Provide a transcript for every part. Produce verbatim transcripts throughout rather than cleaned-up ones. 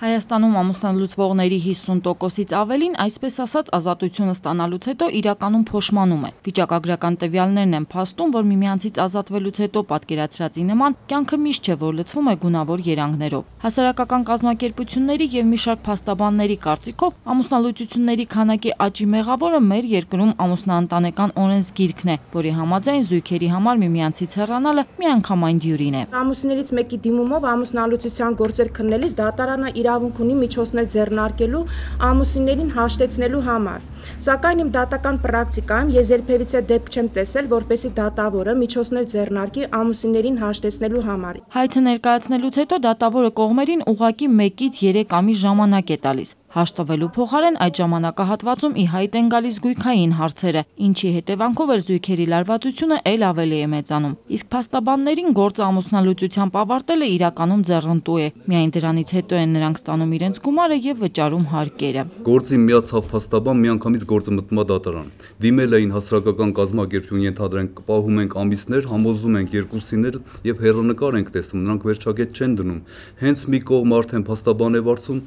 Հայաստանում ամուսնալուծվողների հիսուն տոկոսից ավելին, այսպես ասած, ազատությունը ստանալուց հետո իրականում փոշմանում է։ Վիճակագրական տվյալներն են փաստում, որ միմյանցից ազատվելուց հետո պատկերացրածի նման կյանքը միշտ չէ, որ լցվում է գունավոր երանգներով։ Հասարակական կազմակերպությունների եւ մի շարք փաստաբանների կարծիքով ամուսնալուծությունների քանակի աճի մեղավորը մեր երկրում ամուսնաընտանեկան օրենսգիրքն է, որի համաձայն զույգերի համար միմյանցից հեռանալը միանգամայն դյուրին է։ Ամուսիններից մեկի դիմումով ամուսնալուծության գործեր քննելիս դատարանը իրավունք ունի միջոցներ ձեռնարկելու ամուսիններին հաշտեցնելու համար։ Սակայն իմ դատական պրակտիկայում ես երբևիցե դեպք չեմ տեսել, որպեսզի դատավորը միջոցներ ձեռնարկի ամուսիններին հաշտեցնելու համար։ Հայցը ներկայացնելուց հետո դատավորը կողմերին ուղղակի մեկից երեք ամիս ժամանակ է տալիս։ Հաշտվելու փոխարեն այդ ժամանակահատվածում ի հայտ են գալիս գույքային հարցերը, ինչի հետևանքով էլ զույգերի լարվածությունը ել ավելի է մեծանում։ Իսկ փաստաբաններին գործը ամուսնալուծությամբ ավարտելը իրականում ձեռնտու է։ Միայն դրանից հետո են նրանք ստանում իրենց գումարը եւ վճարում հարկերը։ Գործի միացավ փաստաբան միանգամից գործը մտնում է դատարան։ Դիմել էին հասարակական կազմակերպություն, ենթադրենք պահում ենք ամիսներ, համոզում ենք երկուսին էլ եւ հեռանկար ենք տեսնում, նրանք վերջակետ չեն դնում։ Հենց մի կողմ արդեն փաստաբան է վարձում,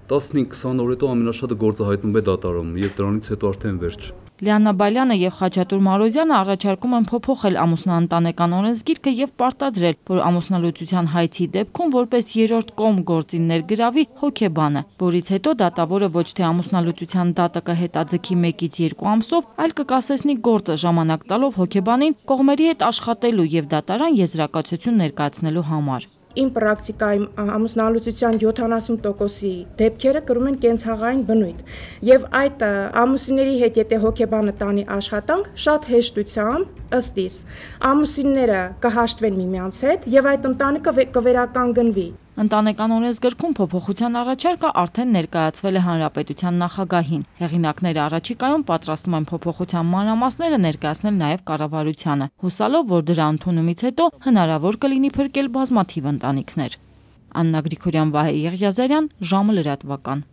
տասնհինգ քսան օր հետո ամենաշատը գործը հայտնում է դատարանում եւ դրանից հետո արդեն վերջ։ Լիաննա Բալյանը եւ Խաչատուր Մարոզյանը առաջարկում են փոփոխել ամուսնաընտանեկան օրենսգիրքը եւ պարտադրել, որ ամուսնալուծության հայցի դեպքում որպես երրորդ կողմ գործին ներգրավի հոգեբանը, որից հետո դատավորը ոչ թե ամուսնալուծության դատը կհետաձգի մեկից երկու ամսով, այլ կկասեցնի գործը ժամանակ տալով հոգեբանին կողմերի հետ աշխատելու եւ դատարան եզրակացություն ներկայացնելու համար։ Իմ պրակտիկայում ամուսնալուծության յոթանասուն տոկոսի դեպքերը կրում են կենցաղային բնույթ եւ այդ ամուսինների հետ եթե հոգեբանը տանի աշխատանք շատ հեշտությամբ ըստ իս ամուսինները կհաշտվեն միմյանց հետ եւ այդ ընտանիքը կվերականգնվի։ Ընտանեկան օրենսգրքում փոփոխության առաջարկը արդեն ներկայացվել է Հանրապետության նախագահին։ Հեղինակները առաջիկայում պատրաստում են փոփոխության մանրամասները ներկայացնել նաև կառավարությանը, հուսալով, որ դրա ընդունումից հետո հնարավոր կլինի փրկել բազմաթիվ ընտանիքներ։ Աննա Գրիգորյան, Վահե Եղիազարյան, ժամը լրատվական։